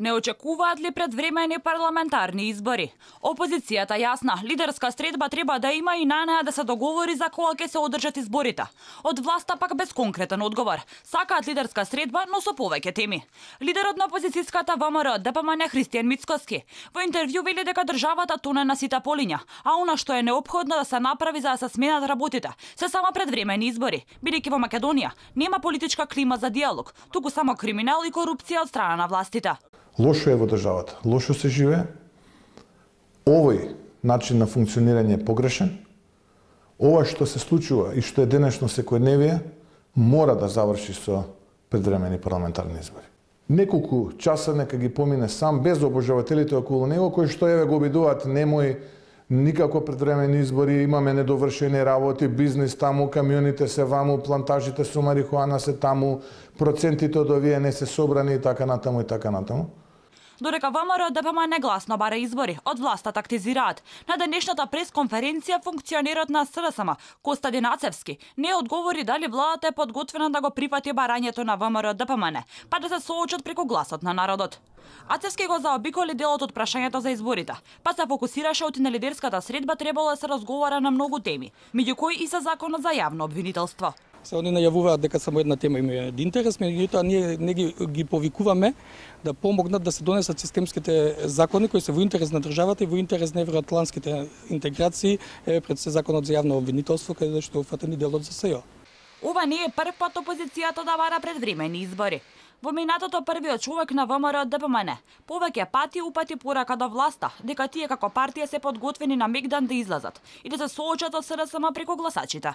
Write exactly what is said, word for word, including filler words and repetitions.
Не очекуваат ли предвремени парламентарни избори? Опозицијата јасна, лидерска средба треба да има и на неа да се договори за кога ќе се одржат изборите. Од власта пак без конкретен одговор. Сакаат лидерска средба, но со повеќе теми. Лидерот на опозицијската ВМРО ДПМН Христијан Мицкоски во интервју вели дека државата тоне на сите полиња, а она што е неопходно да се направи за да се сменат работите, се само предвремени избори, бидејќи во Македонија нема политичка клима за диалог, туку само криминал и корупција од страна на властите. Лошо е во државата, лошо се живее. Овој начин на функционирање е погрешен. Ова што се случува и што е денешно секојдневие мора да заврши со предвремени парламентарни избори. Неколку часа нека ги помине сам без обожавателите околу него кои што еве го обидуваат немој никако предвремени избори, имаме недовршени работи, бизнис таму, камионите се ваму, плантажите со марихуана се таму, процентите од овие не се собрани и така натаму и така натаму. Додека ВМРО ДПМН гласно бара избори, од власта тактизираат. На денешната пресконференција функционерот на СРСМ Костадин Ацевски не одговори дали владата е подготвена да го прифати барањето на ВМРО ДПМН, па да се соочат преку гласот на народот. Ацевски го заобиколи делот од прашањето за изборите, па се фокусираше оти на лидерската средба требало да се разговара на многу теми, меѓу кои и за законот за јавно обвинителство. Се они најавуваат дека само една тема има интерес, меѓутоа ние не ги, ги повикуваме да помогнат да се донесат системските закони кои се во интерес на државата и во интерес на евроатлантските интеграции, е пред се законот за јавно обвинителство каде што е уфатен и делот за СЈО. Ова не е прв пат опозицијата да бара предвремени избори. Во минатото првиот човек на ВМРО ДПМН повеќе пати упати порака до власта дека тие како партија се подготвени на мегдан да излазат и да се соочат со СРСМ преку гласачите.